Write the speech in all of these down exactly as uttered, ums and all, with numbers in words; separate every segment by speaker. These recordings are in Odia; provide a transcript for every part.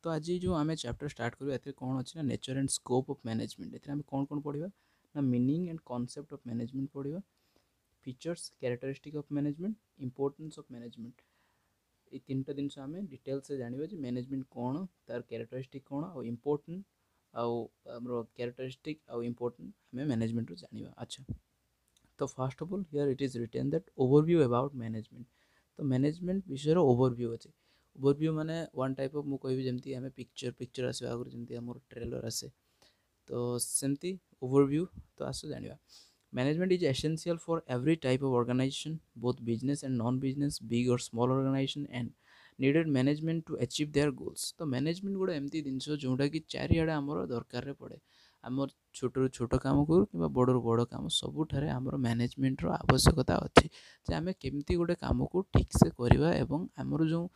Speaker 1: ତ ଆଜି ଯେଉଁ ଆମେ ଚାପ୍ଟର ଷ୍ଟାର୍ଟ କରିବା ଏଥିରେ କ'ଣ ଅଛି ନା nature and scope of management ଏଥିରେ ଆମେ କ'ଣ କ'ଣ ପଢ଼ିବା ନା meaning and concept of management ପଢ଼ିବା features characteristic of management importance of management ଏଇ ତିନିଟା ଜିନିଷ ଆମେ ଡିଟେଲ୍ସରେ ଜାଣିବା ଯେ ମ୍ୟାନେଜମେଣ୍ଟ କ'ଣ ତାର କ୍ୟାରେକ୍ଟରିଷ୍ଟିକ୍ କ'ଣ ଆଉ ଇମ୍ପୋର୍ଟାଣ୍ଟ ଆଉ ଆମର କ୍ୟାରେକ୍ଟରିଷ୍ଟିକ୍ ଆଉ ଇମ୍ପୋର୍ଟାଣ୍ଟ ଆମେ ମ୍ୟାନେଜମେଣ୍ଟରୁ ଜାଣିବା ଆଚ୍ଛା ତ first of all here it is written that overview about management ତ ମ୍ୟାନେଜମେଣ୍ଟ ବିଷୟରେ ଓଭରଭ୍ୟୁ ଅଛି ଓଭରଭ୍ୟୁ ମାନେ ୱାନ୍ ଟାଇପ୍ ଅଫ୍ ମୁଁ କହିବି ଯେମିତି ଆମେ ପିକ୍ଚର ପିକ୍ଚର ଆସିବା ଆଗରୁ ଯେମିତି ଆମର ଟ୍ରେଲର ଆସେ ତ ସେମିତି ଓଭରଭ୍ୟୁ ତ ଆସ ଜାଣିବା Management is essential for every type of organization, both business and non-business, big or small organization, and needed management to achieve their goals. ତ ମ୍ୟାନେଜମେଣ୍ଟ ଗୋଟେ ଏମିତି ଜିନିଷ ଯେଉଁଟାକି ଚାରିଆଡ଼େ ଆମର ଦରକାରରେ ପଡ଼େ ଆମର ଛୋଟରୁ ଛୋଟ କାମ କରୁ କିମ୍ବା ବଡ଼ରୁ ବଡ଼ କାମ ସବୁଠାରେ ଆମର ମ୍ୟାନେଜମେଣ୍ଟର ଆବଶ୍ୟକତା ଅଛି ଯେ ଆମେ କେମିତି ଗୋଟେ କାମକୁ ଠିକ୍ସେ କରିବା ଏବଂ ଆମର ଯେଉଁ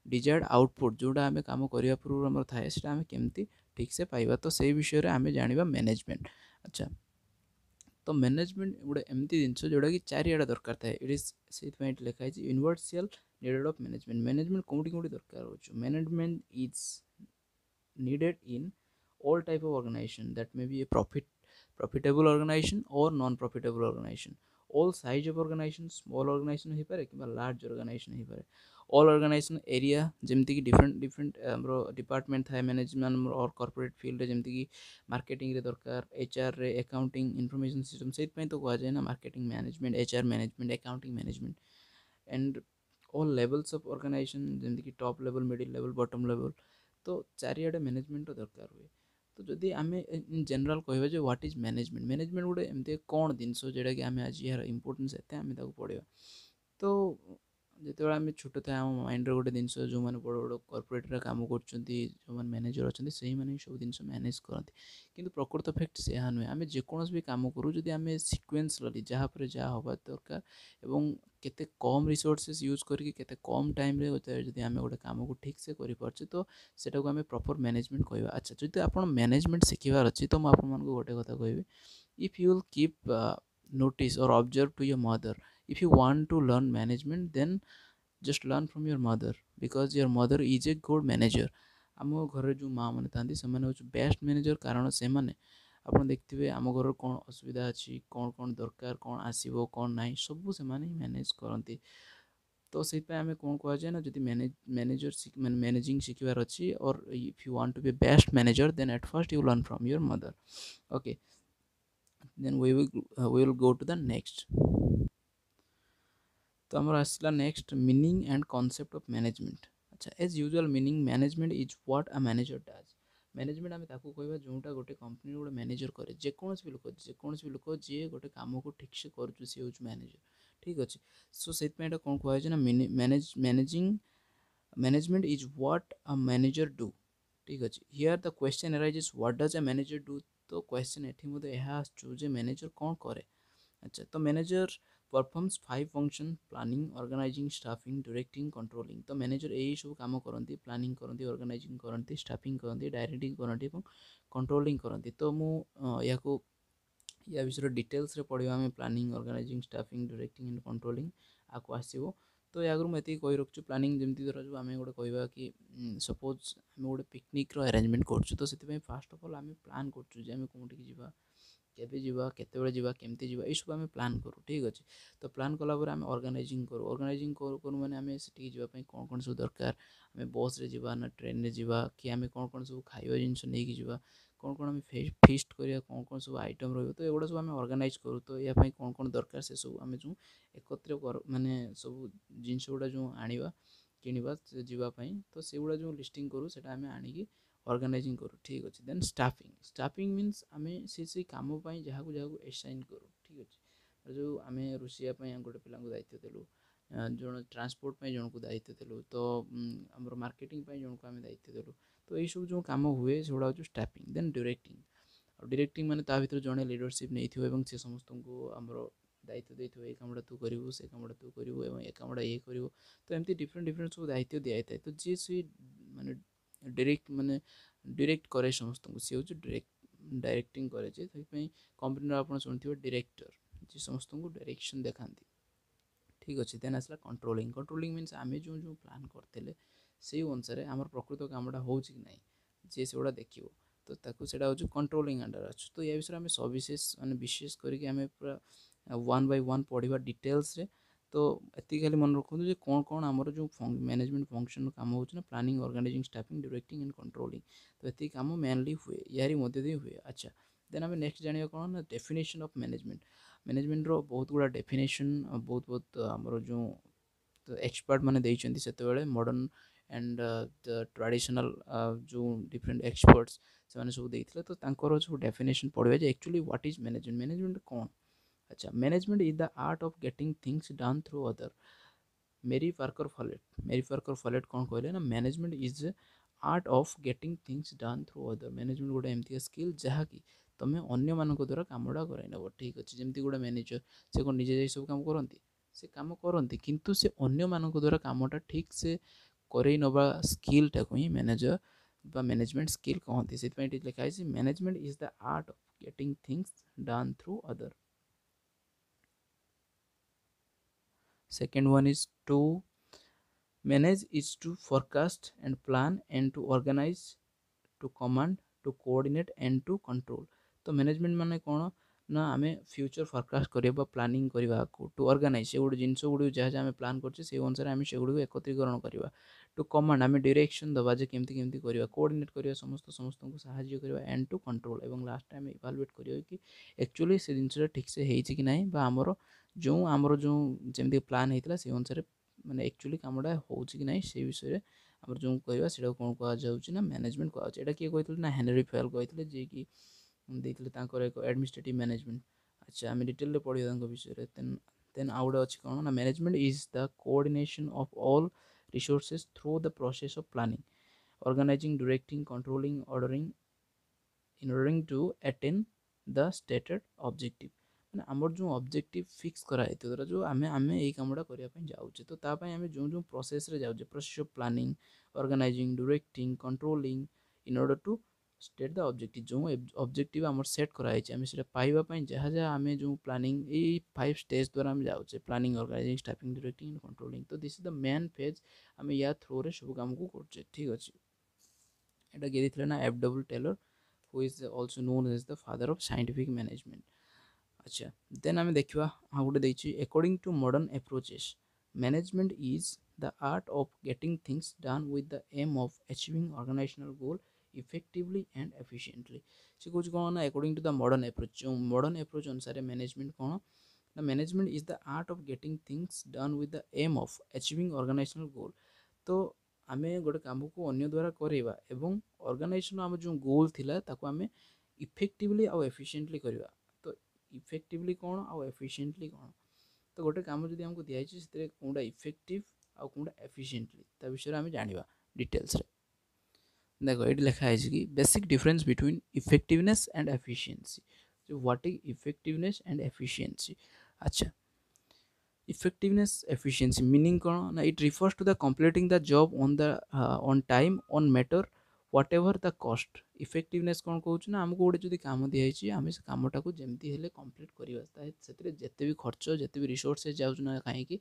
Speaker 1: ଡିଜାୟାର୍ଡ଼ ଆଉଟପୁଟ୍ ଯେଉଁଟା ଆମେ କାମ କରିବା ପୂର୍ବରୁ ଆମର ଥାଏ ସେଇଟା ଆମେ କେମିତି ଠିକ୍ସେ ପାଇବା ତ ସେଇ ବିଷୟରେ ଆମେ ଜାଣିବା ମ୍ୟାନେଜମେଣ୍ଟ ଆଚ୍ଛା ତ ମ୍ୟାନେଜମେଣ୍ଟ ଗୋଟେ ଏମିତି ଜିନିଷ ଯେଉଁଟାକି ଚାରିଆଡ଼େ ଦରକାର ଥାଏ ଇଟ୍ ଇସ୍ ସେଇଥିପାଇଁ ଏଠି ଲେଖା ହେଇଛି ୟୁନିଭର୍ସିଆଲ ନିଡେଡ଼ ଅଫ୍ ମ୍ୟାନେଜମେଣ୍ଟ ମ୍ୟାନେଜମେଣ୍ଟ କେଉଁଠି କେଉଁଠି ଦରକାର ହେଉଛି management is needed in all type of organization that may be a profit profitable organization or non profitable organization all size of organization small organization ହେଇପାରେ କିମ୍ବା ଲାର୍ଜ ଅର୍ଗାନାଇଜେସନ୍ ହେଇପାରେ ଅଲ୍ ଅର୍ଗାନାଇଜେସନ୍ ଏରିଆ ଯେମିତିକି ଡିଫରେଣ୍ଟ ଡିଫରେଣ୍ଟ ଆମର ଡିପାର୍ଟମେଣ୍ଟ ଥାଏ ମ୍ୟାନେଜମେଣ୍ଟ ଆମର ଅର୍ କର୍ପୋରେଟ୍ ଫିଲ୍ଡରେ ଯେମିତିକି ମାର୍କେଟିଂରେ ଦରକାର ଏଚ୍ଆର୍ରେ ଆକାଉଣ୍ଟିଂ ଇନଫର୍ମେସନ୍ ସିଷ୍ଟମ୍ ସେଇଥିପାଇଁ ତ କୁହାଯାଏ ନା marketing management HR management accounting management and all levels of organization ଯେମିତିକି top level middle level bottom level ତ ଚାରିଆଡ଼େ ମ୍ୟାନେଜମେଣ୍ଟର ଦରକାର ହୁଏ ତ ଯଦି ଆମେ ଇନ୍ ଜେନେରାଲ୍ କହିବା ଯେ what is management management ଗୋଟେ ଏମିତି କ'ଣ ଜିନିଷ ଯେଉଁଟାକି ଆମେ ଆଜି ଏହାର ଇମ୍ପୋର୍ଟାନ୍ସ ଏତେ ଆମେ ତାକୁ ପଢ଼ିବା ତ ଯେତେବେଳେ ଆମେ ଛୋଟ ଥାଏ ଆମ ମାଇଣ୍ଡରେ ଗୋଟେ ଜିନିଷ ଯେଉଁମାନେ ବଡ଼ ବଡ଼ କର୍ପୋରେଟ୍ରେ କାମ କରୁଛନ୍ତି ଯେଉଁମାନେ ମ୍ୟାନେଜର୍ ଅଛନ୍ତି ସେଇମାନେ ହିଁ ସବୁ ଜିନିଷ ମ୍ୟାନେଜ୍ କରନ୍ତି କିନ୍ତୁ ପ୍ରକୃତ ଫ୍ୟାକ୍ଟ ସେହା ନୁହେଁ ଆମେ ଯେକୌଣସି ବି କାମ କରୁ ଯଦି ଆମେ ସିକ୍ୱେନ୍ସଲି ଯାହା ପରେ ଯାହା ହେବା ଦରକାର ଏବଂ କେତେ କମ୍ ରିସୋର୍ସେସ୍ ୟୁଜ୍ କରିକି କେତେ କମ୍ ଟାଇମ୍ରେ ଯଦି ଆମେ ଗୋଟେ କାମକୁ ଠିକ୍ସେ କରିପାରୁଛେ ତ ସେଟାକୁ ଆମେ ପ୍ରପର୍ ମ୍ୟାନେଜମେଣ୍ଟ କହିବା ଆଚ୍ଛା ଯଦି ଆପଣ ମ୍ୟାନେଜମେଣ୍ଟ ଶିଖିବାର ଅଛି ତ ମୁଁ ଆପଣମାନଙ୍କୁ ଗୋଟେ କଥା କହିବି if you will keep notice or observe to your mother if you want to learn management then just learn from your mother because your mother is a good manager ଆମ ଘରେ ଯେଉଁ ମା ମାନେ ଥାନ୍ତି ସେମାନେ ହେଉଛି ବେଷ୍ଟ ମ୍ୟାନେଜର କାରଣ ସେମାନେ ଆପଣ ଦେଖିଥିବେ ଆମ ଘରର କ'ଣ ଅସୁବିଧା ଅଛି କ'ଣ କ'ଣ ଦରକାର କ'ଣ ଆସିବ କ'ଣ ନାହିଁ ସବୁ ସେମାନେ ହିଁ ମ୍ୟାନେଜ୍ କରନ୍ତି ତ ସେଇଥିପାଇଁ ଆମେ କ'ଣ କୁହାଯାଏ ନା ଯଦି ମ୍ୟାନେଜ ମ୍ୟାନେଜର ମାନେ ମ୍ୟାନେଜିଂ ଶିଖିବାର ଅଛି or if you want to be best manager then at first you learn from your mother okay then we will uh, we will go to the next ତ ଆମର ଆସିଲା next meaning and concept of management ଆଚ୍ଛା as usual meaning management is what a manager does management ଆମେ ତାକୁ କହିବା ଯେଉଁଟା ଗୋଟେ କମ୍ପାନୀର ଗୋଟେ ମ୍ୟାନେଜର କରେ ଯେକୌଣସି ବି ଲୋକ ଯେକୌଣସି ବି ଲୋକ ଯିଏ ଗୋଟେ କାମକୁ ଠିକ୍ସେ କରୁଛି ସିଏ ହେଉଛି ମ୍ୟାନେଜର ଠିକ୍ ଅଛି ସୋ ସେଇଥିପାଇଁ ଏଇଟା କ'ଣ କୁହାଯାଇଛି ନା manage managing management is what a manager do ଠିକ୍ ଅଛି here the question arises what does a manager do ତ କ୍ୱେଶ୍ଚନ୍ ଏଠି ମଧ୍ୟ ଏହା ଆସୁଛୁ ଯେ ମ୍ୟାନେଜର କ'ଣ କରେ ଆଚ୍ଛା ତ manager performs five function planning organizing staffing directing controlling ତ ମ୍ୟାନେଜର ଏଇ ସବୁ କାମ କରନ୍ତି ପ୍ଲାନିଂ କରନ୍ତି ଅର୍ଗାନାଇଜିଂ କରନ୍ତି ଷ୍ଟାଫିଂ କରନ୍ତି ଡାଇରେକ୍ଟିଂ କରନ୍ତି ଏବଂ କଣ୍ଟ୍ରୋଲିଂ କରନ୍ତି ତ ମୁଁ ଏହାକୁ ୟା ବିଷୟରେ ଡିଟେଲ୍ସରେ ପଢ଼ିବା ଆମେ planning organizing staffing directing and controlling ଆକୁ ଆସିବ ତ ୟା ଆଗରୁ ମୁଁ ଏତିକି କହି ରଖୁଛି ପ୍ଲାନିଂ ଯେମିତି ଧରାଯାଉ ଆମେ ଗୋଟେ କହିବା କି ସପୋଜ୍ ଆମେ ଗୋଟେ ପିକନିକ୍ର ଆରେଞ୍ଜମେଣ୍ଟ କରୁଛୁ ତ ସେଥିପାଇଁ ଫାଷ୍ଟ ଅଫ୍ ଅଲ୍ ଆମେ ପ୍ଲାନ୍ କରୁଛୁ ଯେ ଆମେ କେଉଁଠିକି ଯିବା କେବେ ଯିବା କେତେବେଳେ ଯିବା କେମିତି ଯିବା ଏଇସବୁ ଆମେ ପ୍ଲାନ୍ କରୁ ଠିକ୍ ଅଛି ତ ପ୍ଲାନ୍ କଲା ପରେ ଆମେ ଅର୍ଗାନାଇଜିଂ କରୁ ଅର୍ଗାନାଇଜିଂ କରୁ କରୁ ମାନେ ଆମେ ସେଠିକି ଯିବା ପାଇଁ କ'ଣ କ'ଣ ସବୁ ଦରକାର ଆମେ ବସ୍ରେ ଯିବା ନା ଟ୍ରେନ୍ରେ ଯିବା କି ଆମେ କ'ଣ କ'ଣ ସବୁ ଖାଇବା ଜିନିଷ ନେଇକି ଯିବା କ'ଣ କ'ଣ ଆମେ ଫିଷ୍ଟ କରିବା କ'ଣ କ'ଣ ସବୁ ଆଇଟମ୍ ରହିବ ତ ଏଗୁଡ଼ା ସବୁ ଆମେ ଅର୍ଗାନାଇଜ୍ କରୁ ତ ୟା ପାଇଁ କ'ଣ କ'ଣ ଦରକାର ସେସବୁ ଆମେ ଯେଉଁ ଏକତ୍ର କରୁ ମାନେ ସବୁ ଜିନିଷ ଗୁଡ଼ା ଯେଉଁ ଆଣିବା କିଣିବା ଯିବା ପାଇଁ ତ ସେଗୁଡ଼ା ଯେଉଁ ଲିଷ୍ଟିଂ କରୁ ସେଇଟା ଆମେ ଆଣିକି ଅର୍ଗାନାଇଜିଂ କରୁ ଠିକ୍ ଅଛି ଦେନ୍ ଷ୍ଟାଫିଂ ଷ୍ଟାଫିଂ ମିନ୍ସ ଆମେ ସେ ସେଇ କାମ ପାଇଁ ଯାହାକୁ ଯାହାକୁ ଏସାଇନ୍ କରୁ ଠିକ୍ ଅଛି ଯେଉଁ ଆମେ ରୋଷେଇଆ ପାଇଁ ଗୋଟେ ପିଲାଙ୍କୁ ଦାୟିତ୍ୱ ଦେଲୁ ଜଣେ ଟ୍ରାନ୍ସପୋର୍ଟ ପାଇଁ ଜଣକୁ ଦାୟିତ୍ୱ ଦେଲୁ ତ ଆମର ମାର୍କେଟିଂ ପାଇଁ ଜଣକୁ ଆମେ ଦାୟିତ୍ୱ ଦେଲୁ ତ ଏଇସବୁ ଯେଉଁ କାମ ହୁଏ ସେଗୁଡ଼ା ହେଉଛି ଷ୍ଟାଫିଂ ଦେନ୍ ଡିରେକ୍ଟିଂ ଆଉ ଡିରେକ୍ଟିଂ ମାନେ ତା ଭିତରେ ଜଣେ ଲିଡରସିପ୍ ନେଇଥିବ ଏବଂ ସେ ସମସ୍ତଙ୍କୁ ଆମର ଦାୟିତ୍ୱ ଦେଇଥିବ ଏଇ କାମଟା ତୁ କରିବୁ ସେ କାମଟା ତୁ କରିବୁ ଏବଂ ଏ କାମଟା ଇଏ କରିବ ତ ଏମିତି ଡିଫରେଣ୍ଟ ଡିଫରେଣ୍ଟ ସବୁ ଦାୟିତ୍ୱ ଦିଆଯାଇଥାଏ ତ ଯିଏ ସେଇ ମାନେ ଡିରେକ୍ଟ ମାନେ ଡିରେକ୍ଟ କରେ ସମସ୍ତଙ୍କୁ ସିଏ ହେଉଛି ଡିରେକ୍ଟ ଡାଇରେକ୍ଟିଂ କରେ ଯେ ସେଥିପାଇଁ କମ୍ପାନୀର ଆପଣ ଶୁଣିଥିବେ ଡିରେକ୍ଟର ଯିଏ ସମସ୍ତଙ୍କୁ ଡାଇରେକ୍ସନ୍ ଦେଖାନ୍ତି ଠିକ୍ ଅଛି ଦେନ୍ ଆସିଲା କଣ୍ଟ୍ରୋଲିଂ କଣ୍ଟ୍ରୋଲିଂ ମିନ୍ସ ଆମେ ଯେଉଁ ଯେଉଁ ପ୍ଲାନ୍ କରିଥିଲେ ସେଇ ଅନୁସାରେ ଆମର ପ୍ରକୃତ କାମଟା ହେଉଛି କି ନାହିଁ ଯିଏ ସେଗୁଡ଼ା ଦେଖିବ ତ ତାକୁ ସେଇଟା ହେଉଛି କଣ୍ଟ୍ରୋଲିଂ ଅଣ୍ଡର ଅଛି ତ ୟା ବିଷୟରେ ଆମେ ସବିଶେଷ ମାନେ ବିଶେଷ କରିକି ଆମେ ପୁରା ୱାନ୍ ବାଇ ୱାନ୍ ପଢ଼ିବା ଡିଟେଲ୍ସରେ ତ ଏତିକି ଖାଲି ମନେ ରଖନ୍ତୁ ଯେ କ'ଣ କ'ଣ ଆମର ଯେଉଁ ମ୍ୟାନେଜମେଣ୍ଟ ଫଙ୍କସନ୍ କାମ ହେଉଛି ନା planning organizing staffing directing and controlling ତ ଏତିକି କାମ ମେନଲି ହୁଏ ୟାରି ମଧ୍ୟ ଦେଇ ହୁଏ ଆଚ୍ଛା ଦେନ୍ ଆମେ ନେକ୍ସଟ ଜାଣିବା କ'ଣ ନା ଡେଫିନେସନ୍ ଅଫ୍ ମ୍ୟାନେଜମେଣ୍ଟ ମ୍ୟାନେଜମେଣ୍ଟର ବହୁତ ଗୁଡ଼ା ଡେଫିନେସନ୍ ବହୁତ ବହୁତ ଆମର ଯେଉଁ ଏକ୍ସପର୍ଟ ମାନେ ଦେଇଛନ୍ତି ସେତେବେଳେ ମଡ଼ର୍ଣ୍ଣ ଆଣ୍ଡ ଟ୍ରାଡ଼ିସନାଲ୍ ଯେଉଁ ଡିଫରେଣ୍ଟ ଏକ୍ସପର୍ଟସ୍ ସେମାନେ ସବୁ ଦେଇଥିଲେ ତ ତାଙ୍କର ସବୁ ଡେଫିନେସନ୍ ପଢ଼ିବା ଯେ actually what is management management କ'ଣ ଆଚ୍ଛା management is the art of getting things done through other Mary Parker Follett Mary Parker Follett କ'ଣ କହିଲେ ନା management is art of getting things done through other management ଗୋଟେ ଏମିତିକା ସ୍କିଲ୍ ଯାହାକି ତୁମେ ଅନ୍ୟମାନଙ୍କ ଦ୍ୱାରା କାମଟା କରାଇ ନେବ ଠିକ୍ ଅଛି ଯେମିତି ଗୋଟେ ମ୍ୟାନେଜର ସେ କ'ଣ ନିଜେ ଯାଇ ସବୁ କାମ କରନ୍ତି ସେ କାମ କରନ୍ତି କିନ୍ତୁ ସେ ଅନ୍ୟମାନଙ୍କ ଦ୍ୱାରା କାମଟା ଠିକ୍ ସେ କରେଇ ନେବା ସ୍କିଲ୍ଟାକୁ ହିଁ ମ୍ୟାନେଜର ବା ମ୍ୟାନେଜମେଣ୍ଟ ସ୍କିଲ୍ କହନ୍ତି ସେଥିପାଇଁ ଏଠି ଲେଖା ହେଇଛି management is the art of getting things done through other Second one is to manage is to forecast and plan and to organize, to command, to coordinate and to control. ତ ମ୍ୟାନେଜମେଣ୍ଟ ମାନେ କ'ଣ ନା ଆମେ ଫ୍ୟୁଚର୍ ଫରକାଷ୍ଟ କରିବା ବା ପ୍ଲାନିଂ କରିବା ଟୁ ଅର୍ଗାନାଇଜ୍ ସେ ଗୋଟେ ଜିନିଷ ଗୁଡ଼ିକୁ ଯାହା ଯାହା ଆମେ ପ୍ଲାନ୍ କରୁଛେ ସେଇ ଅନୁସାରେ ଆମେ ସେଗୁଡ଼ିକୁ ଏକତ୍ରୀକରଣ କରିବା ଟୁ କମାଣ୍ଡ ଆମେ ଡିରେକ୍ସନ୍ ଦେବା ଯେ କେମିତି କେମିତି କରିବା କୋଅର୍ଡ଼ିନେଟ୍ କରିବା ସମସ୍ତ ସମସ୍ତଙ୍କୁ ସାହାଯ୍ୟ କରିବା ଆଣ୍ଡ ଟୁ କଣ୍ଟ୍ରୋଲ୍ ଏବଂ ଲାଷ୍ଟ ଆମେ ଇଭାଲୁଏଟ୍ କରିବା କି ଆକ୍ଚୁଆଲି ସେ ଜିନିଷଟା ଠିକ୍ସେ ହେଇଛି କି ନାହିଁ ବା ଆମର ଯେଉଁ ଆମର ଯେଉଁ ଯେମିତି ପ୍ଲାନ୍ ହେଇଥିଲା ସେଇ ଅନୁସାରେ ମାନେ ଆକ୍ଚୁଆଲି କାମଟା ହେଉଛି କି ନାହିଁ ସେଇ ବିଷୟରେ ଆମର ଯେଉଁ କହିବା ସେଇଟାକୁ କ'ଣ କୁହାଯାଉଛି ନା ମ୍ୟାନେଜମେଣ୍ଟ କୁହାଯାଉଛି ଏଇଟା କିଏ କହିଥିଲେ ନା ହେନରି ଫେଲ୍ କହିଥିଲେ ଯିଏକି ଦେଇଥିଲେ ତାଙ୍କର ଏକ ଆଡ଼ମିନିଷ୍ଟ୍ରେଟିଭ୍ ମ୍ୟାନେଜମେଣ୍ଟ ଆଚ୍ଛା ଆମେ ଡିଟେଲରେ ପଢ଼ିବା ତାଙ୍କ ବିଷୟରେ ଦେନ୍ ଦେନ୍ ଆଉ ଗୋଟେ ଅଛି କ'ଣ ନା management is the coordination of all resources through the process of planning organizing directing controlling ordering in ordering to attain the stated objective ମାନେ ଆମର ଯେଉଁ ଅବଜେକ୍ଟିଭ୍ ଫିକ୍ସ କରାଯାଇଥିବ ଧର ଯେଉଁ ଆମେ ଆମେ ଏଇ କାମଟା କରିବା ପାଇଁ ଯାଉଛେ ତ ତା ପାଇଁ ଆମେ ଯେଉଁ ଯେଉଁ ପ୍ରୋସେସ୍ରେ ଯାଉଛେ process of planning organizing directing controlling in order to state the objective ଯେଉଁ ଅବଜେକ୍ଟିଭ୍ ଆମର ସେଟ୍ କରାହେଇଛି ଆମେ ସେଇଟା ପାଇବା ପାଇଁ ଯାହା ଯାହା ଆମେ ଯେଉଁ ପ୍ଲାନିଂ ଏଇ ଫାଇଭ୍ ଷ୍ଟେଜ୍ ଦ୍ୱାରା ଆମେ ଯାଉଛେ planning organizing staffing directing and controlling ତ this is the main phase ଆମେ ୟା ଥ୍ରୋରେ ସବୁ କାମକୁ କରୁଛେ ଠିକ୍ ଅଛି ଏଇଟା କିଏ ଦେଇଥିଲେ ନା F W Taylor who is also known as the father of scientific management ଆଚ୍ଛା ଦେନ୍ ଆମେ ଦେଖିବା ଆଉ ଗୋଟେ ଦେଇଛି according to modern approaches management is the art of getting things done with the aim of achieving organizational goal effectively and efficiently ସେ କହୁଛି କ'ଣ ନା according to the modern approach ଯେଉଁ ମଡ଼ର୍ଣ୍ଣ ଆପ୍ରୋଚ୍ ଅନୁସାରେ ମ୍ୟାନେଜମେଣ୍ଟ କ'ଣ ନା management is the art of getting things done with the aim of achieving organizational goal ତ ଆମେ ଗୋଟେ କାମକୁ ଅନ୍ୟ ଦ୍ୱାରା କରେଇବା ଏବଂ ଅର୍ଗାନାଇଜେସନ୍ ଆମର ଯେଉଁ ଗୋଲ୍ ଥିଲା ତାକୁ ଆମେ ଇଫେକ୍ଟିଭଲି ଆଉ ଏଫିସିଏଣ୍ଟଲି କରିବା ତ ଇଫେକ୍ଟିଭଲି କ'ଣ ଆଉ ଏଫିସିଏଣ୍ଟଲି କ'ଣ ତ ଗୋଟେ କାମ ଯଦି ଆମକୁ ଦିଆହେଇଛି ସେଥିରେ କେଉଁଟା ଇଫେକ୍ଟିଭ୍ ଆଉ କେଉଁଟା ଏଫିସିଏଣ୍ଟଲି ତା ବିଷୟରେ ଆମେ ଜାଣିବା ଡିଟେଲ୍ସରେ ଦେଖ ଏଇଠି ଲେଖା ହେଇଛି କି basic difference between effectiveness and efficiency what is effectiveness and efficiency ଆଚ୍ଛା ଇଫେକ୍ଟିଭନେସ୍ ଏଫିସିଏନ୍ସି ମିନିଂ କ'ଣ ନା it refers to the completing the job on the on time no matter whatever the cost effectiveness କ'ଣ କହୁଛୁ ନା ଆମକୁ ଗୋଟେ ଯଦି କାମ ଦିଆହେଇଛି ଆମେ ସେ କାମଟାକୁ ଯେମିତି ହେଲେ କମ୍ପ୍ଲିଟ୍ କରିବା ସେଥିରେ ଯେତେ ବି ଖର୍ଚ୍ଚ ଯେତେ ବି ରିସୋର୍ସେସ୍ ଯାଉଛି ନା କାହିଁକି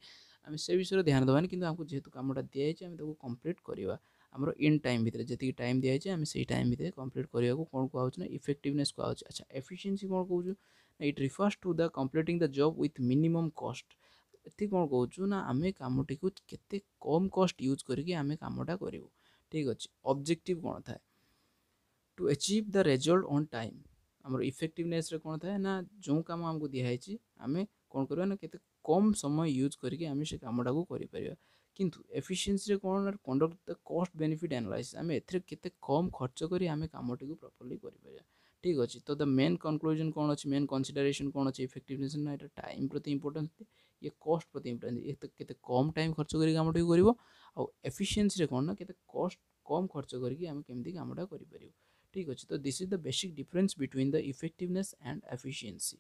Speaker 1: ଆମେ ସେ ବିଷୟରେ ଧ୍ୟାନ ଦେବାନି କିନ୍ତୁ ଆମକୁ ଯେହେତୁ କାମଟା ଦିଆହେଇଛି ଆମେ ତାକୁ କମ୍ପ୍ଲିଟ୍ କରିବା ଆମର ଇନ୍ ଟାଇମ୍ ଭିତରେ ଯେତିକି ଟାଇମ୍ ଦିଆହେଇଛି ଆମେ ସେଇ ଟାଇମ୍ ଭିତରେ କମ୍ପ୍ଲିଟ୍ କରିବାକୁ କ'ଣ କୁହାହେଉଛି ନା ଇଫେକ୍ଟିଭନେସ୍ କୁହାହେଉଛି ଆଚ୍ଛା ଏଫିସିଏନ୍ସି କ'ଣ କହୁଛୁ ନା it refers to the completing the job with minimum cost ଏଠି କ'ଣ କହୁଛୁ ନା ଆମେ କାମଟିକୁ କେତେ କମ୍ କଷ୍ଟ ୟୁଜ୍ କରିକି ଆମେ କାମଟା କରିବୁ ଠିକ୍ ଅଛି ଅବଜେକ୍ଟିଭ୍ କ'ଣ ଥାଏ to achieve the result on time ଆମର ଇଫେକ୍ଟିଭନେସ୍ରେ କ'ଣ ଥାଏ ନା ଯେଉଁ କାମ ଆମକୁ ଦିଆହେଇଛି ଆମେ କ'ଣ କରିବା ନା କେତେ କମ୍ ସମୟ ୟୁଜ୍ କରିକି ଆମେ ସେ କାମଟାକୁ କରିପାରିବା କିନ୍ତୁ ଏଫିସିଏନ୍ସିରେ କ'ଣ ନା conduct the cost benefit analysis ଆମେ ଏଥିରେ କେତେ କମ୍ ଖର୍ଚ୍ଚ କରି ଆମେ କାମଟିକୁ ପ୍ରପରଲି କରିପାରିବା ଠିକ୍ ଅଛି ତ the main conclusion କ'ଣ ଅଛି ମେନ୍ କନସିଡରେସନ୍ କ'ଣ ଅଛି ଇଫେକ୍ଟିଭନେସ୍ ନା ଏଇଟା ଟାଇମ୍ ପ୍ରତି ଇମ୍ପୋର୍ଟାନ୍ସ ଇଏ କଷ୍ଟ ପ୍ରତି ଇମ୍ପୋର୍ଟାନ୍ସ ଇଏ କେତେ କମ୍ ଟାଇମ୍ ଖର୍ଚ୍ଚ କରି କାମଟିକୁ କରିବ ଆଉ ଏଫିସିଏନ୍ସିରେ କ'ଣ ନା କେତେ କଷ୍ଟ କମ୍ ଖର୍ଚ୍ଚ କରିକି ଆମେ କେମିତି କାମଟା କରିପାରିବୁ ଠିକ୍ ଅଛି ତ this is the basic difference between the effectiveness and efficiency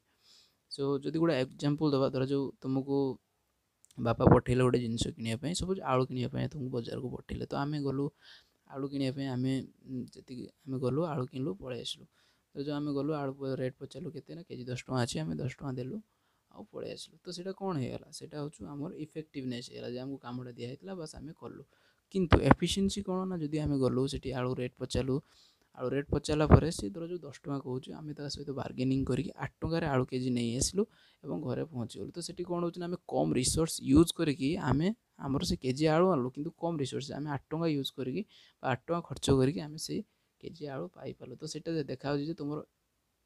Speaker 1: so ଯଦି ଗୋଟେ ଏକ୍ଜାମ୍ପଲ୍ ଦେବା ଧର ଯେଉଁ ତୁମକୁ ବାପା ପଠେଇଲେ ଗୋଟେ ଜିନିଷ କିଣିବା ପାଇଁ ସପୋଜ୍ ଆଳୁ କିଣିବା ପାଇଁ ତୁମକୁ ବଜାରକୁ ପଠେଇଲେ ତ ଆମେ ଗଲୁ ଆଳୁ କିଣିବା ପାଇଁ ଆମେ ଯେତିକି ଆମେ ଗଲୁ ଆଳୁ କିଣିଲୁ ପଳେଇ ଆସିଲୁ ତ ଯେଉଁ ଆମେ ଗଲୁ ଆଳୁ ରେଟ୍ ପଚାରିଲୁ କେତେ ନା କେଜି ଦଶ ଟଙ୍କା ଅଛି ଆମେ ଦଶ ଟଙ୍କା ଦେଲୁ ଆଉ ପଳେଇ ଆସିଲୁ ତ ସେଇଟା କ'ଣ ହେଇଗଲା ସେଇଟା ହେଉଛି ଆମର ଇଫେକ୍ଟିଭନେସ୍ ହେଇଗଲା ଯେ ଆମକୁ କାମଟା ଦିଆହେଇଥିଲା ବାସ୍ ଆମେ କଲୁ କିନ୍ତୁ ଏଫିସିଏନ୍ସି କ'ଣ ନା ଯଦି ଆମେ ଗଲୁ ସେଠି ଆଳୁ ରେଟ୍ ପଚାରିଲୁ ଆଳୁ ରେଟ୍ ପଚାରିଲା ପରେ ସେ ଧର ଯେଉଁ ଦଶ ଟଙ୍କା କହୁଛି ଆମେ ତା ସହିତ ବାର୍ଗେନିଂ କରିକି ଆଠ ଟଙ୍କାରେ ଆଳୁ କେଜି ନେଇ ଆସିଲୁ ଏବଂ ଘରେ ପହଞ୍ଚିଗଲୁ ତ ସେଠି କ'ଣ ହେଉଛି ନା ଆମେ କମ୍ ରିସୋର୍ସ ୟୁଜ୍ କରିକି ଆମେ ଆମର ସେ କେଜି ଆଳୁ ଆଣିଲୁ କିନ୍ତୁ କମ୍ ରିସୋର୍ସ ଆମେ ଆଠ ଟଙ୍କା ୟୁଜ୍ କରିକି ବା ଆଠ ଟଙ୍କା ଖର୍ଚ୍ଚ କରିକି ଆମେ ସେଇ କେଜି ଆଳୁ ପାଇପାରିଲୁ ତ ସେଇଟା ଦେଖାହେଉଛି ଯେ ତୁମର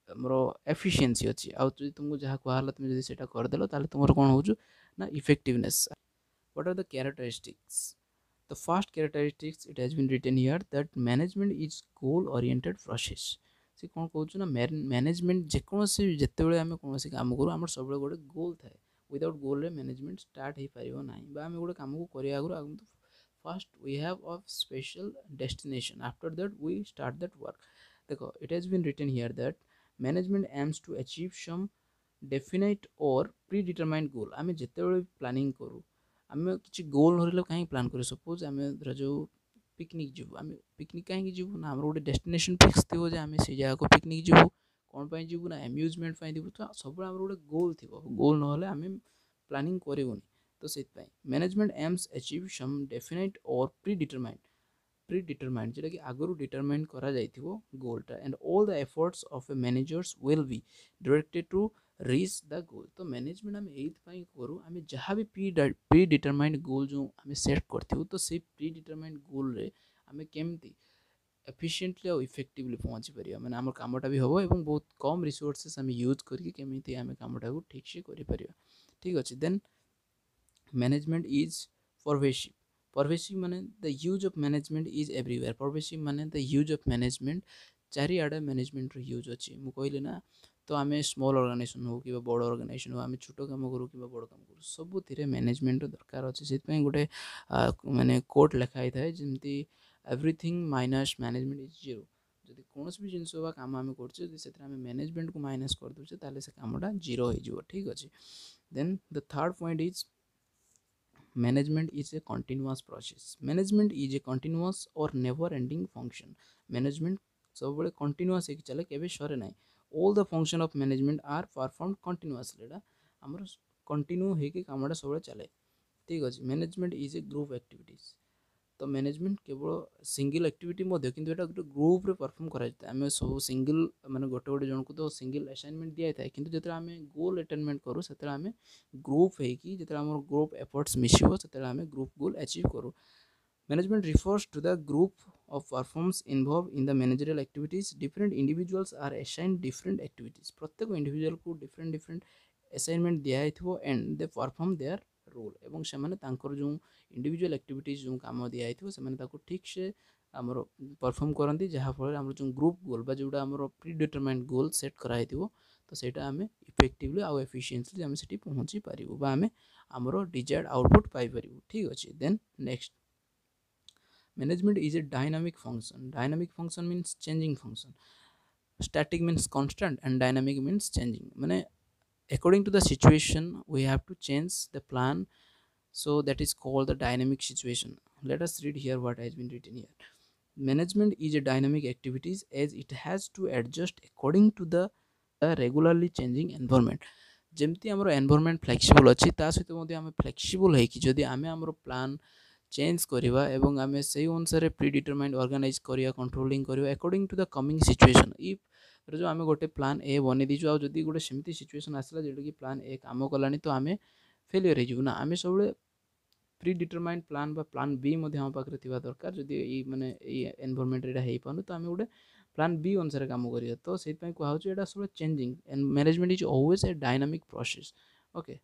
Speaker 1: ଆମର ଏଫିସିଏନ୍ସି ଅଛି ଆଉ ଯଦି ତୁମକୁ ଯାହା କୁହାହେଲା ତୁମେ ଯଦି ସେଇଟା କରିଦେଲ ତାହେଲେ ତୁମର କ'ଣ ହେଉଛି ନା effectiveness what are the characteristics the first characteristics it has been written here that management is goal oriented process ସେ କ'ଣ କହୁଛୁ ନା ମ୍ୟାନେଜମେଣ୍ଟ ଯେକୌଣସି ଯେତେବେଳେ ଆମେ କୌଣସି କାମ କରୁ ଆମର ସବୁବେଳେ ଗୋଟେ ଗୋଲ୍ ଥାଏ ୱିଦାଉଟ୍ ଗୋଲ୍ରେ ମ୍ୟାନେଜମେଣ୍ଟ ଷ୍ଟାର୍ଟ ହେଇପାରିବ ନାହିଁ ବା ଆମେ ଗୋଟେ କାମକୁ କରିବା ଆଗରୁ ଆଗରୁ first we have a special destination after that we start that work ଦେଖ it has been written here that management aims to achieve some definite or predetermined goal ଆମେ ଯେତେବେଳେ ପ୍ଲାନିଂ କରୁ ଆମେ କିଛି ଗୋଲ୍ ଧରିଲେ କାହିଁକି ପ୍ଲାନ୍ କରୁ ସପୋଜ୍ ଆମେ ଧର ଯେଉଁ ପିକନିକ୍ ଯିବୁ ଆମେ ପିକନିକ୍ କାହିଁକି ଯିବୁ ନା ଆମର ଗୋଟେ ଡେଷ୍ଟିନେସନ୍ ଫିକ୍ସ ଥିବ ଯେ ଆମେ ସେଇ ଜାଗାକୁ ପିକନିକ୍ ଯିବୁ କ'ଣ ପାଇଁ ଯିବୁ ନା ଆମ୍ୟୁଜମେଣ୍ଟ ପାଇଁ ଯିବୁ ତ ସବୁବେଳେ ଆମର ଗୋଟେ ଗୋଲ୍ ଥିବ ଗୋଲ୍ ନହେଲେ ଆମେ ପ୍ଲାନିଂ କରିବୁନି ତ ସେଇଥିପାଇଁ management aims achieve some definite or predetermined predetermined ଯେଉଁଟାକି ଆଗରୁ ଡିଟରମାଇଣ୍ଡ କରାଯାଇଥିବ ଗୋଲ୍ଟା and all the efforts of a managers will be directed to reach the goal ତ ମ୍ୟାନେଜମେଣ୍ଟ ଆମେ ଏଇଥିପାଇଁ କରୁ ଆମେ ଯାହା ବି ପ୍ରି ପ୍ରି ଡିଟରମାଇଣ୍ଡ ଗୋଲ୍ ଯେଉଁ ଆମେ ସେଟ୍ କରିଥିବୁ ତ ସେଇ ପ୍ରି ଡିଟରମାଇଣ୍ଡ ଗୋଲ୍ରେ ଆମେ କେମିତି ଏଫିସିଏଣ୍ଟଲି ଆଉ ଇଫେକ୍ଟିଭଲି ପହଞ୍ଚି ପାରିବା ମାନେ ଆମ କାମଟା ବି ହେବ ଏବଂ ବହୁତ କମ୍ ରିସୋର୍ସେସ୍ ଆମେ ୟୁଜ୍ କରିକି କେମିତି ଆମେ କାମଟାକୁ ଠିକ୍ସେ କରିପାରିବା ଠିକ୍ ଅଛି then management is pervasive pervasive ମାନେ the use of management is everywhere pervasive ମାନେ the use of management ଚାରିଆଡ଼େ ମ୍ୟାନେଜମେଣ୍ଟର ୟୁଜ୍ ଅଛି ମୁଁ କହିଲି ନା ତ ଆମେ ସ୍ମଲ୍ ଅର୍ଗାନାଇଜେସନ୍ ହଉ କିମ୍ବା ବଡ଼ ଅର୍ଗାନାଇଜେସନ୍ ହଉ ଆମେ ଛୋଟ କାମ କରୁ କିମ୍ବା ବଡ଼ କାମ କରୁ ସବୁଥିରେ ମ୍ୟାନେଜମେଣ୍ଟର ଦରକାର ଅଛି ସେଥିପାଇଁ ଗୋଟେ ମାନେ କୋଟ୍ ଲେଖା ହେଇଥାଏ ଯେମିତି everything minus management is zero ଯଦି କୌଣସି ବି ଜିନିଷ ବା କାମ ଆମେ କରୁଛେ ଯଦି ସେଥିରେ ଆମେ ମ୍ୟାନେଜମେଣ୍ଟକୁ ମାଇନସ୍ କରିଦେଉଛେ ତାହେଲେ ସେ କାମଟା ଜିରୋ ହେଇଯିବ ଠିକ୍ ଅଛି then the third point is management is a continuous process management is a continuous or never ending function management ସବୁବେଳେ କଣ୍ଟିନ୍ୟୁଅସ୍ ହେଇକି ଚାଲେ କେବେ ସରେ ନାହିଁ all the function of management are performed continuously ଏଇଟା ଆମର କଣ୍ଟିନ୍ୟୁ ହେଇକି କାମଟା ସବୁବେଳେ ଚାଲେ ଠିକ୍ ଅଛି management is a group activities ତ ମ୍ୟାନେଜମେଣ୍ଟ କେବଳ ସିଙ୍ଗିଲ୍ ଆକ୍ଟିଭିଟି ମଧ୍ୟ କିନ୍ତୁ ଏଇଟା ଗୋଟେ ଗ୍ରୁପ୍ରେ ପରଫର୍ମ କରାଯାଇଥାଏ ଆମେ ସବୁ ସିଙ୍ଗିଲ୍ ମାନେ ଗୋଟେ ଗୋଟେ ଜଣକୁ ତ ସିଙ୍ଗିଲ୍ ଆସାଇନମେଣ୍ଟ ଦିଆଯାଇଥାଏ କିନ୍ତୁ ଯେତେବେଳେ ଆମେ ଗୋଲ୍ ଆଟେନମେଣ୍ଟ କରୁ ସେତେବେଳେ ଆମେ ଗ୍ରୁପ୍ ହେଇକି ଯେତେବେଳେ ଆମର ଗ୍ରୁପ୍ ଏଫର୍ଟସ୍ ମିଶିବ ସେତେବେଳେ ଆମେ ଗ୍ରୁପ୍ ଗୋଲ୍ ଆଚିଭ୍ କରୁ management refers to the group of persons involved in the managerial activities different individuals are assigned different activities ପ୍ରତ୍ୟେକ ଇଣ୍ଡିଭିଜୁଆଲକୁ ଡିଫରେଣ୍ଟ ଡିଫରେଣ୍ଟ ଆସାଇନମେଣ୍ଟ ଦିଆଯାଇଥିବ and they perform their role ଏବଂ ସେମାନେ ତାଙ୍କର ଯେଉଁ ଇଣ୍ଡିଭିଜୁଆଲ ଆକ୍ଟିଭିଟିଜ୍ ଯେଉଁ କାମ ଦିଆଯାଇଥିବ ସେମାନେ ତାକୁ ଠିକ୍ସେ ଆମର ପରଫର୍ମ କରନ୍ତି ଯାହାଫଳରେ ଆମର ଯେଉଁ ଗ୍ରୁପ୍ ଗୋଲ୍ ବା ଯେଉଁଟା ଆମର ପ୍ରି ଡିଟରମାଇଣ୍ଡ ଗୋଲ୍ ସେଟ୍ କରାହେଇଥିବ ତ ସେଇଟା ଆମେ ଇଫେକ୍ଟିଭଲି ଆଉ ଏଫିସିଏଣ୍ଟଲି ଆମେ ସେଠି ପହଞ୍ଚି ପାରିବୁ ବା ଆମେ ଆମର ଡିଜାୟାର୍ଡ ଆଉଟପୁଟ୍ ପାଇପାରିବୁ ଠିକ୍ ଅଛି then next management is a dynamic function dynamic function means changing function static means constant and dynamic means changing ମାନେ according to the situation we have to change the plan so that is called the dynamic situation let us read here what has been written here management is a dynamic activities as it has to adjust according to the regularly changing environment ଯେମିତି ଆମର ଏନଭାରମେଣ୍ଟ ଫ୍ଲେକ୍ସିବଲ୍ ଅଛି ତା ସହିତ ମଧ୍ୟ ଆମେ ଫ୍ଲେକ୍ସିବଲ୍ ହେଇକି ଯଦି ଆମେ ଆମର ପ୍ଲାନ୍ ଚେଞ୍ଜ କରିବା ଏବଂ ଆମେ ସେଇ ଅନୁସାରେ ପ୍ରି ଡିଟରମାଇଣ୍ଡ ଅର୍ଗାନାଇଜ୍ କରିବା କଣ୍ଟ୍ରୋଲିଂ କରିବା according to the coming situation if ଯେଉଁ ଆମେ ଗୋଟେ ପ୍ଲାନ୍ ଏ ବନେଇ ଦେଇଛୁ ଆଉ ଯଦି ଗୋଟେ ସେମିତି ସିଚୁଏସନ୍ ଆସିଲା ଯେଉଁଟାକି ପ୍ଲାନ୍ ଏ କାମ କଲାନି ତ ଆମେ ଫେଲିୟର ହେଇଯିବୁ ନା ଆମେ ସବୁବେଳେ ପ୍ରି ଡିଟରମାଇଣ୍ଡ ପ୍ଲାନ୍ ବା ପ୍ଲାନ୍ ବି ମଧ୍ୟ ଆମ ପାଖରେ ଥିବା ଦରକାର ଯଦି ଏଇ ମାନେ ଏଇ ଏନଭାରମେଣ୍ଟରେ ଏଇଟା ହେଇପାରୁନି ତ ଆମେ ଗୋଟେ ପ୍ଲାନ୍ ବି ଅନୁସାରେ କାମ କରିବା ତ ସେଇଥିପାଇଁ କୁହାହେଉଛି ଏଇଟା ସବୁବେଳେ changing and management is always a dynamic process okay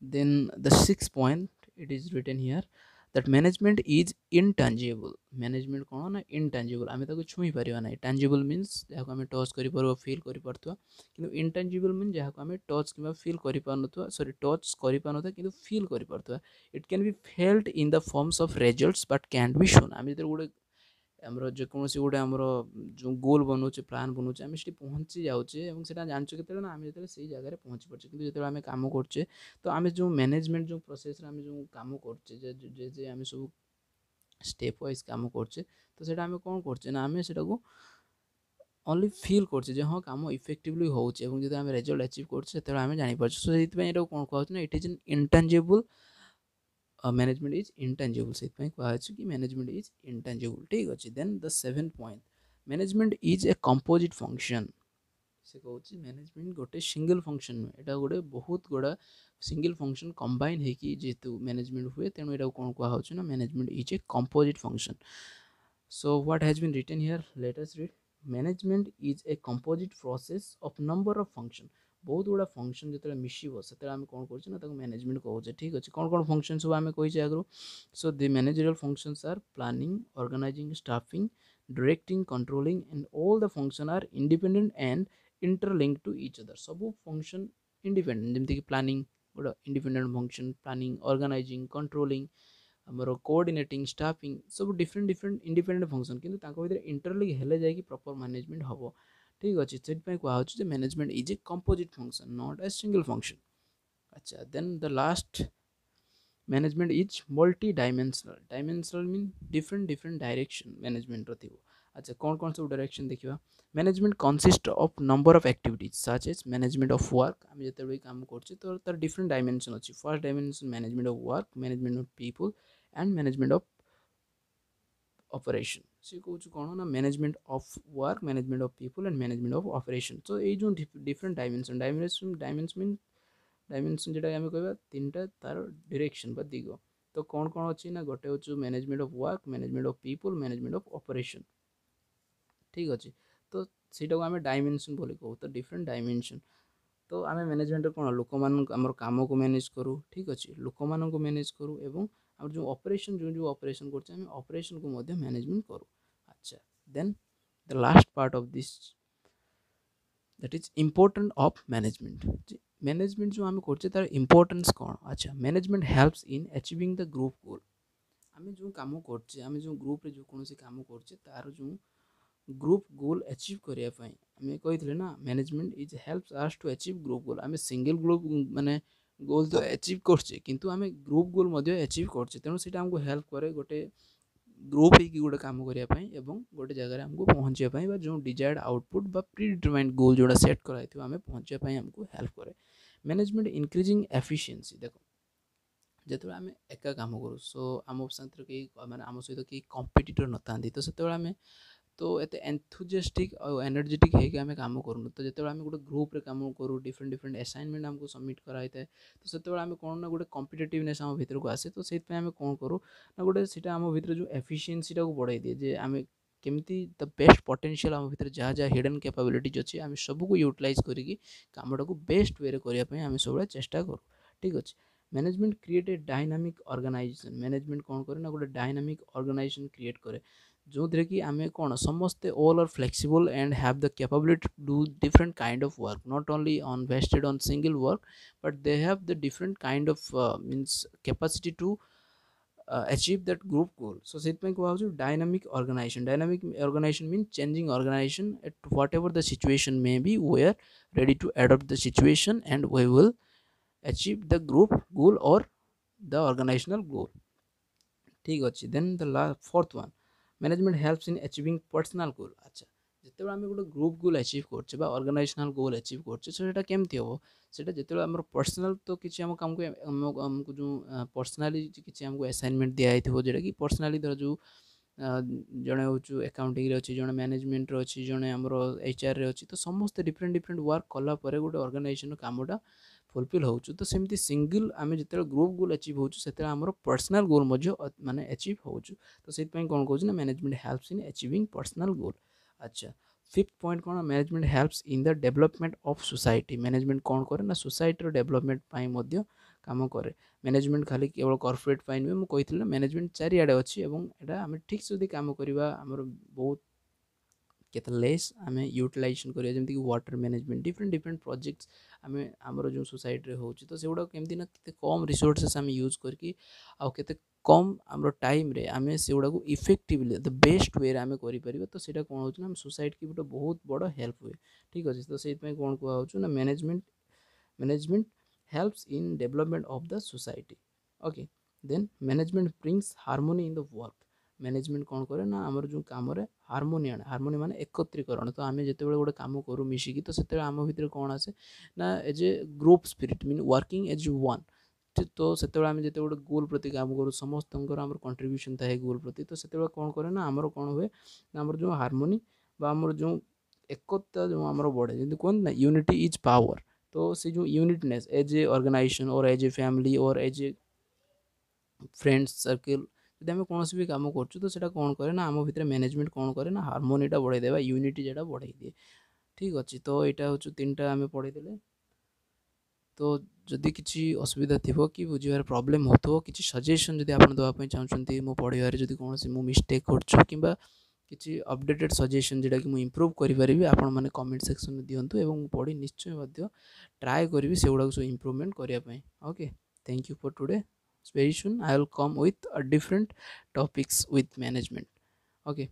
Speaker 1: then the sixth point it is written here that management is intangible management କ'ଣ ନା intangible ଆମେ ତାକୁ ଛୁଇଁ ପାରିବା ନାହିଁ tangible means ଯାହାକୁ ଆମେ ଟଚ୍ କରିପାରିବା ଫିଲ୍ କରିପାରୁଥିବା କିନ୍ତୁ intangible means ଯାହାକୁ ଆମେ ଟଚ୍ କିମ୍ବା ଫିଲ୍ କରିପାରୁନଥିବା ସରି ଟଚ୍ କରିପାରୁନଥିବା କିନ୍ତୁ feel କରିପାରୁଥିବା it can be felt in the forms of results but can't be shown ଆମେ ଯେତେବେଳେ ଗୋଟେ ଆମର ଯେକୌଣସି ଗୋଟେ ଆମର ଯେଉଁ ଗୋଲ୍ ବନଉଛେ ପ୍ଲାନ୍ ବନଉଛେ ଆମେ ସେଠି ପହଞ୍ଚି ଯାଉଛେ ଏବଂ ସେଇଟା ଜାଣିଛୁ କେତେବେଳେ ନା ଆମେ ଯେତେବେଳେ ସେଇ ଜାଗାରେ ପହଞ୍ଚି ପାରୁଛେ କିନ୍ତୁ ଯେତେବେଳେ ଆମେ କାମ କରୁଛେ ତ ଆମେ ଯେଉଁ ମ୍ୟାନେଜମେଣ୍ଟ ଯେଉଁ ପ୍ରୋସେସ୍ରେ ଆମେ ଯେଉଁ କାମ କରୁଛେ ଯେ ଯେ ଆମେ ସବୁ ଷ୍ଟେପ୍ ୱାଇଜ୍ କାମ କରୁଛେ ତ ସେଇଟା ଆମେ କ'ଣ କରୁଛେ ନା ଆମେ ସେଇଟାକୁ ଓନ୍ଲି ଫିଲ୍ କରୁଛେ ଯେ ହଁ କାମ ଇଫେକ୍ଟିଭଲି ହେଉଛି ଏବଂ ଯଦି ଆମେ ରେଜଲ୍ଟ ଆଚିଭ୍ କରୁଛେ ସେତେବେଳେ ଆମେ ଜାଣିପାରୁଛେ ସୋ ସେଇଥିପାଇଁ ଏଇଟାକୁ କ'ଣ କୁହାହେଉଛି ନା it is an intangible Management is intangible ସେଥିପାଇଁ କୁହାଯାଇଛି କି ମ୍ୟାନେଜମେଣ୍ଟ is ଇନଟାଞ୍ଜିବୁଲ୍ ଠିକ୍ ଅଛି then the seven point management is a composite function ସେ କହୁଛି ମ୍ୟାନେଜମେଣ୍ଟ ଗୋଟେ ସିଙ୍ଗଲ୍ ଫଙ୍କସନ୍ ନୁହେଁ ଏଇଟା ଗୋଟେ ବହୁତ ଗୁଡ଼ା ସିଙ୍ଗଲ୍ ଫଙ୍କସନ୍ କମ୍ବାଇନ୍ ହେଇକି ଯେହେତୁ ମ୍ୟାନେଜମେଣ୍ଟ ହୁଏ ତେଣୁ ଏଇଟାକୁ କ'ଣ କୁହାହେଉଛି ନା management is a composite function So what has been written here? Let us read. Management is a composite process of number of function. ବହୁତ ଗୁଡ଼ା ଫଙ୍କସନ୍ ଯେତେବେଳେ ମିଶିବ ସେତେବେଳେ ଆମେ କ'ଣ କରୁଛେ ନା ତାକୁ ମ୍ୟାନେଜମେଣ୍ଟ କହୁଛେ ଠିକ୍ ଅଛି କ'ଣ କ'ଣ ଫଙ୍କସନ୍ ସବୁ ଆମେ କହିଛେ ଆଗରୁ So the managerial functions are planning organizing staffing directing controlling and all the function are independent and interlink to each other ସବୁ ଫଙ୍କସନ୍ ଇଣ୍ଡିପେଣ୍ଡେଣ୍ଟ ଯେମିତିକି ପ୍ଲାନିଂ ଗୋଟେ independent function planning organizing controlling ଆମର କୋଅର୍ଡ଼ିନେଟିଂ ଷ୍ଟାଫିଂ ସବୁ ଡିଫରେଣ୍ଟ ଡିଫରେଣ୍ଟ ଇଣ୍ଡିପେଣ୍ଡେଣ୍ଟ ଫଙ୍କସନ୍ କିନ୍ତୁ ତାଙ୍କ ଭିତରେ ଇଣ୍ଟରଲିଙ୍କ ହେଲେ ଯାଇକି ପ୍ରପର୍ ମ୍ୟାନେଜମେଣ୍ଟ ହେବ ଠିକ୍ ଅଛି ସେଥିପାଇଁ କୁହାହେଉଛି ଯେ management is a composite function not a single function ଆଚ୍ଛା then the last management is multi dimensional dimensional mean different different direction ମ୍ୟାନେଜମେଣ୍ଟର ଥିବ ଆଚ୍ଛା କ'ଣ କ'ଣ ସବୁ ଡାଇରେକ୍ସନ୍ ଦେଖିବା management consist of number of activities such as management of work ଆମେ ଯେତେବେଳେ କାମ କରୁଛେ ତ ତାର ଡିଫରେଣ୍ଟ ଡାଇମେନସନ୍ ଅଛି first dimension management of work management of people and management of operation ସେ କହୁଛି କ'ଣ ନା management of work management of people and management of operation ତ ଏଇ ଯେଉଁ different dimension dimension dimension mean dimension ଯେଉଁଟା ଆମେ କହିବା ତିନିଟା ତାର ଡିରେକ୍ସନ୍ ବା ଦିଗ ତ କ'ଣ କ'ଣ ଅଛି ନା ଗୋଟେ ହେଉଛି management of work management of people management of operation ଠିକ୍ ଅଛି ତ ସେଇଟାକୁ ଆମେ ଡାଇମେନସନ୍ ବୋଲି କହୁ ତ ଡିଫରେଣ୍ଟ ଡାଇମେନସନ୍ ତ ଆମେ ମ୍ୟାନେଜମେଣ୍ଟରେ କ'ଣ ଲୋକମାନଙ୍କୁ ଆମର କାମକୁ ମ୍ୟାନେଜ୍ କରୁ ଠିକ୍ ଅଛି ଲୋକମାନଙ୍କୁ ମ୍ୟାନେଜ୍ କରୁ ଏବଂ ଆମର ଯେଉଁ ଅପରେସନ୍ ଯେଉଁ ଯେଉଁ ଅପରେସନ୍ କରୁଛେ ଆମେ ଅପରେସନ୍କୁ ମଧ୍ୟ ମ୍ୟାନେଜମେଣ୍ଟ କରୁ ଆଚ୍ଛା then the last part of this that is important of management management ଯେଉଁ ଆମେ କରୁଛେ ତାର ଇମ୍ପୋର୍ଟାନ୍ସ କ'ଣ ଆଚ୍ଛା management helps in achieving the group goal ଆମେ ଯେଉଁ କାମ କରୁଛେ ଆମେ ଯେଉଁ ଗ୍ରୁପ୍ରେ ଯେଉଁ କୌଣସି କାମ କରୁଛେ ତାର ଯେଉଁ ଗ୍ରୁପ୍ ଗୋଲ୍ ଆଚିଭ୍ କରିବା ପାଇଁ ଆମେ କହିଥିଲେ ନା management is helps us to achieve group goal ଆମେ ସିଙ୍ଗଲ୍ ଗ୍ରୁପ୍ ମାନେ ଗୋଲ୍ ତ ଆଚିଭ୍ କରୁଛେ କିନ୍ତୁ ଆମେ ଗ୍ରୁପ୍ ଗୋଲ୍ ମଧ୍ୟ ଆଚିଭ୍ କରୁଛେ ତେଣୁ ସେଇଟା ଆମକୁ ହେଲ୍ପ କରେ ଗୋଟେ ଗ୍ରୁପ୍ ହେଇକି ଗୋଟେ କାମ କରିବା ପାଇଁ ଏବଂ ଗୋଟେ ଜାଗାରେ ଆମକୁ ପହଞ୍ଚିବା ପାଇଁ ବା ଯେଉଁ ଡିଜାୟାର୍ଡ଼ ଆଉଟପୁଟ୍ ବା ପ୍ରି ଡିଟରମାଇଣ୍ଡ ଗୋଲ୍ ଯେଉଁଟା ସେଟ୍ କରାହେଇଥିବ ଆମେ ପହଞ୍ଚିବା ପାଇଁ ଆମକୁ ହେଲ୍ପ କରେ ମ୍ୟାନେଜମେଣ୍ଟ ଇନକ୍ରିଜିଂ ଏଫିସିଏନ୍ସି ଦେଖ ଯେତେବେଳେ ଆମେ ଏକା କାମ କରୁ ସୋ ଆମ ସାଥିରେ କେହି ମାନେ ଆମ ସହିତ କେହି କମ୍ପିଟିଟର୍ ନଥାନ୍ତି ତ ସେତେବେଳେ ଆମେ ତ ଏତେ ଏନ୍ଥୁଜିଆଷ୍ଟିକ୍ ଆଉ ଏନର୍ଜେଟିକ୍ ହେଇକି ଆମେ କାମ କରୁନୁ ତ ଯେତେବେଳେ ଆମେ ଗୋଟେ ଗ୍ରୁପ୍ରେ କାମ କରୁ ଡିଫରେଣ୍ଟ ଡିଫରେଣ୍ଟ ଆସାଇନମେଣ୍ଟ ଆମକୁ ସବମିଟ୍ କରାହେଇଥାଏ ତ ସେତେବେଳେ ଆମେ କ'ଣ ନା ଗୋଟେ କମ୍ପିଟେଟିଭନେସ୍ ଆମ ଭିତରକୁ ଆସେ ତ ସେଇଥିପାଇଁ ଆମେ କ'ଣ କରୁ ନା ଗୋଟେ ସେଇଟା ଆମ ଭିତରେ ଯେଉଁ ଏଫିସିଏନ୍ସିଟାକୁ ବଢ଼ାଇ ଦିଏ ଯେ ଆମେ କେମିତି the best potential ଆମ ଭିତରେ ଯାହା ଯାହା ହିଡ଼େନ୍ କ୍ୟାପାବିଲିଟିଜ୍ ଅଛି ଆମେ ସବୁକୁ ୟୁଟିଲାଇଜ୍ କରିକି କାମଟାକୁ ବେଷ୍ଟ ୱେରେ କରିବା ପାଇଁ ଆମେ ସବୁବେଳେ ଚେଷ୍ଟା କରୁ ଠିକ୍ ଅଛି management create a dynamic organization management କ'ଣ କରେ ନା ଗୋଟେ ଡାଇନାମିକ୍ ଅର୍ଗାନାଇଜେସନ୍ କ୍ରିଏଟ୍ କରେ ଯେଉଁଥିରେ କି ଆମେ କ'ଣ ସମସ୍ତେ all are flexible and have the capability to do different kind of work not only on vested on single work but they have the different kind of means capacity to achieve that group goal so ସେଥିପାଇଁ କୁହାହେଉଛି dynamic organization dynamic organization mean changing organization at whatever the situation may be we are ready to adopt the situation and we will achieve the group goal or the organizational goal ଠିକ୍ ଅଛି then the la fourth one management helps in achieving personal goal ଆଚ୍ଛା ଯେତେବେଳେ ଆମେ ଗୋଟେ ଗ୍ରୁପ୍ ଗୋଲ୍ ଆଚିଭ୍ କରୁଛେ ବା ଅର୍ଗାନାଇଜେସନାଲ୍ ଗୋଲ୍ ଆଚିଭ୍ କରୁଛେ ସେଇଟା କେମିତି ହେବ ସେଇଟା ଯେତେବେଳେ ଆମର ପର୍ସନାଲ୍ ତ କିଛି ଆମ କାମକୁ ଆମକୁ ଯେଉଁ ପର୍ସନାଲି କିଛି ଆମକୁ ଆସାଇନମେଣ୍ଟ ଦିଆହେଇଥିବ ଯେଉଁଟାକି ପର୍ସନାଲି ଧର ଯେଉଁ ଜଣେ ହେଉଛୁ ଆକାଉଣ୍ଟିଂରେ ଅଛି ଜଣେ ମ୍ୟାନେଜମେଣ୍ଟରେ ଅଛି ଜଣେ ଆମର ଏଚ୍ ଆର୍ରେ ଅଛି ତ ସମସ୍ତେ ଡିଫରେଣ୍ଟ ଡିଫରେଣ୍ଟ ୱାର୍କ କଲା ପରେ ଗୋଟେ ଅର୍ଗାନାଇଜେସନ୍ କାମଟା ଫୁଲଫିଲ୍ ହେଉଛି ତ ସେମିତି ସିଙ୍ଗଲ୍ ଆମେ ଯେତେବେଳେ ଗ୍ରୁପ୍ ଗୋଲ୍ ଆଚିଭ୍ ହେଉଛୁ ସେତେବେଳେ ଆମର ପର୍ସନାଲ୍ ଗୋଲ୍ ମଧ୍ୟ ମାନେ ଆଚିଭ୍ ହେଉଛୁ ତ ସେଇଥିପାଇଁ କ'ଣ କହୁଛି ନା management helps in achieving personal goal ଆଚ୍ଛା ଫିଫ୍ଥ ପଏଣ୍ଟ କ'ଣ management helps in the development of society management କ'ଣ କରେ ନା ସୋସାଇଟିର ଡେଭଲପମେଣ୍ଟ ପାଇଁ ମଧ୍ୟ କାମ କରେ ମ୍ୟାନେଜମେଣ୍ଟ ଖାଲି କେବଳ କର୍ପୋରେଟ୍ ପାଇଁ ନୁହେଁ ମୁଁ କହିଥିଲି ନା ମ୍ୟାନେଜମେଣ୍ଟ ଚାରିଆଡ଼େ ଅଛି ଏବଂ ଏଇଟା ଆମେ ଠିକ୍ ଯଦି କାମ କରିବା ଆମର ବହୁତ କେତେ ଲେସ୍ ଆମେ ୟୁଟିଲାଇଜେସନ୍ କରିବା ଯେମିତିକି water management different different projects ଆମେ ଆମର ଯେଉଁ ସୋସାଇଟିରେ ହେଉଛି ତ ସେଗୁଡ଼ାକ କେମିତି ନା କେତେ କମ୍ ରିସୋର୍ସେସ୍ ଆମେ ୟୁଜ୍ କରିକି ଆଉ କେତେ କମ୍ ଆମର ଟାଇମ୍ରେ ଆମେ ସେଗୁଡ଼ାକୁ ଇଫେକ୍ଟିଭଲି the best ୱେରେ ଆମେ କରିପାରିବା ତ ସେଇଟା କ'ଣ ହେଉଛି ନା ଆମ ସୋସାଇଟିକି ଗୋଟେ ବହୁତ ବଡ଼ ହେଲ୍ପ ହୁଏ ଠିକ୍ ଅଛି ତ ସେଇଥିପାଇଁ କ'ଣ କୁହାହେଉଛି ନା management management helps in development of the society okay then management brings harmony in the work management କ'ଣ କରେ ନା ଆମର ଯେଉଁ କାମରେ ହାରମୋନି ଆଣେ ହାରମୋନି ମାନେ ଏକତ୍ରୀକରଣ ତ ଆମେ ଯେତେବେଳେ ଗୋଟେ କାମ କରୁ ମିଶିକି ତ ସେତେବେଳେ ଆମ ଭିତରେ କ'ଣ ଆସେ ନା as a group spirit mean working as one ତ ସେତେବେଳେ ଆମେ ଯେତେବେଳେ ଗୋଟେ ଗୋଲ୍ ପ୍ରତି କାମ କରୁ ସମସ୍ତଙ୍କର ଆମର କଣ୍ଟ୍ରିବ୍ୟୁସନ୍ ଥାଏ ଗୋଲ୍ ପ୍ରତି ତ ସେତେବେଳେ କ'ଣ କରେ ନା ଆମର କ'ଣ ହୁଏ ନା ଆମର ଯେଉଁ ହାରମୋନି ବା ଆମର ଯେଉଁ ଏକତା ଯେଉଁ ଆମର ବଢ଼େ ଯେମିତି କୁହନ୍ତି ନା ୟୁନିଟି is power ତ ସେ ଯେଉଁ unitness as a organization or as a family or as a friends circle ଯଦି ଆମେ କୌଣସି ବି କାମ କରୁଛୁ ତ ସେଇଟା କ'ଣ କରେ ନା ଆମ ଭିତରେ ମ୍ୟାନେଜମେଣ୍ଟ କ'ଣ କରେ ନା ହାରମୋନିଟା ବଢ଼େଇ ଦେବା ୟୁନିଟି ଯେଟା ବଢ଼େଇ ଦିଏ ଠିକ୍ ଅଛି ତ ଏଇଟା ହେଉଛି ତିନିଟା ଆମେ ପଢ଼େଇଦେଲେ ତ ଯଦି କିଛି ଅସୁବିଧା ଥିବ କି ବୁଝିବାରେ ପ୍ରୋବ୍ଲେମ୍ ହେଉଥିବ କିଛି ସଜେସନ୍ ଯଦି ଆପଣ ଦେବା ପାଇଁ ଚାହୁଁଛନ୍ତି ମୋ ପଢ଼ିବାରେ ଯଦି କୌଣସି ମୁଁ ମିଷ୍ଟେକ୍ କରୁଛି କିମ୍ବା କିଛି ଅପଡ଼େଟେଡ଼ ସଜେସନ୍ ଯେଉଁଟାକି ମୁଁ ଇମ୍ପ୍ରୁଭ୍ କରିପାରିବି ଆପଣମାନେ କମେଣ୍ଟ ସେକ୍ସନରେ ଦିଅନ୍ତୁ ଏବଂ ମୁଁ ପଢ଼ି ନିଶ୍ଚୟ ମଧ୍ୟ ଟ୍ରାଏ କରିବି ସେଗୁଡ଼ାକୁ ସବୁ ଇମ୍ପ୍ରୁଭମେଣ୍ଟ କରିବା ପାଇଁ okay thank you for today very soon i will come with a different topics with management okay